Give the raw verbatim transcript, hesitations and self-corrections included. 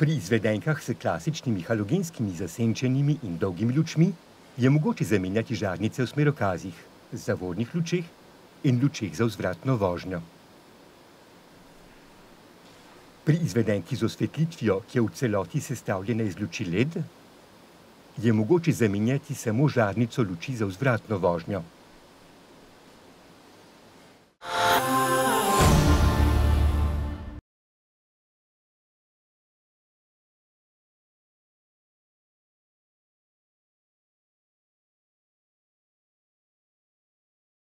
Pri izvedenkah s klasičnimi halogenskimi zasenčenimi in dolgimi lučmi je mogoče zamenjati žarnice v smerokazih, zavornih lučeh in lučeh za vzvratno vožnjo. Pri izvedenki z osvetlitvijo, ki je v celoti sestavljena iz luči L E D, je mogoče zamenjati samo žarnico luči za vzvratno vožnjo.